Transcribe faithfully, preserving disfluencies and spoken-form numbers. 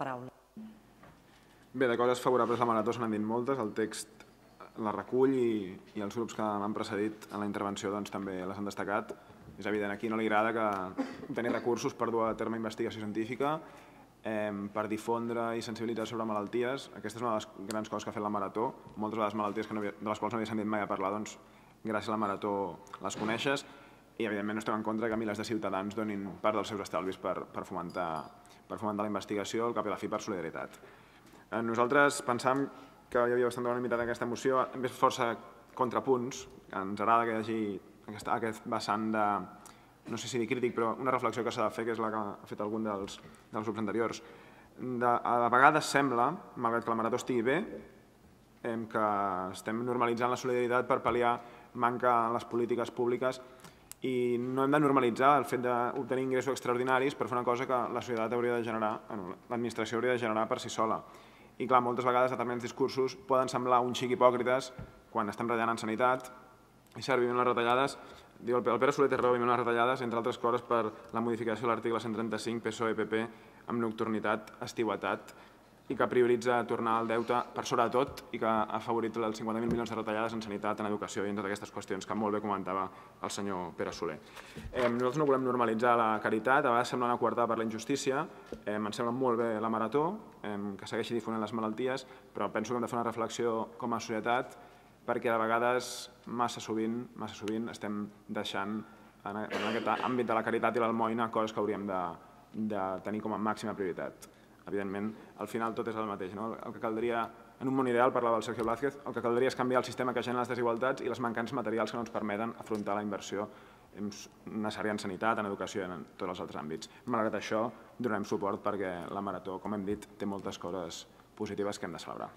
paraula. Bé, de coses favorables a la marató se n'han dit moltes, el text la recull i, i els grups que m'han precedit en la intervenció doncs, també les han destacat. És evident, aquí no li agrada que tenir recursos per dur a terme investigació científica, eh, per difondre i sensibilitzar sobre malalties. Aquesta és una de les grans coses que ha fet la marató. Moltes de les malalties que no havia, de les quals no havia sentit mai a parlar, doncs, gràcies a la marató les coneixes i evidentment no estem en contra que milers de ciutadans donin part dels seus estalvis per, per, fomentar, per fomentar la investigació, al cap i a la fi per solidaritat. Eh, nosaltres pensam que hi havia bastanta unanimitat en aquesta moció, hem vist força contrapunts, ens agrada que hi hagi aquesta, aquest vessant de, no sé si dir crític, però una reflexió que s'ha de fer, que és la que ha fet algun dels, dels grups anteriors. De, a vegades sembla, malgrat que la marató estigui bé, eh, que estem normalitzant la solidaritat per pal·liar manca en les polítiques públiques i no hem de normalitzar el fet d'obtenir ingressos extraordinaris per fer una cosa que la societat hauria de generar, bueno, l'administració hauria de generar per si sola. I clar, moltes vegades determinats discursos poden semblar un xic hipòcrites quan estem retallant en sanitat i cert, vivim les retallades, diu el Pere Soler té raó, vivim les retallades, entre altres coses per la modificació de l'article cent trenta-cinc P S O E P P amb nocturnitat, estiuetat i que prioritza tornar al deute per sobretot i que ha afavorit els cinquanta mil milions de retallades en sanitat, en educació i en totes aquestes qüestions que molt bé comentava el senyor Pere Soler. Eh, nosaltres no volem normalitzar la caritat, a vegades sembla una coartada per la injustícia, eh, ens sembla molt bé la marató, eh, que segueixi difonent les malalties, però penso que hem de fer una reflexió com a societat perquè de vegades massa sovint, massa sovint estem deixant en, en aquest àmbit de la caritat i l'almoina coses que hauríem de, de tenir com a màxima prioritat. Evidentment, al final tot és el mateix. No? El que caldria, en un món ideal, parlava el Sergio Blázquez, el que caldria és canviar el sistema que genera les desigualtats i les mancances materials que no ens permeten afrontar la inversió necessària en sanitat, en educació i en tots els altres àmbits. Malgrat això, donarem suport perquè la marató, com hem dit, té moltes coses positives que hem de celebrar.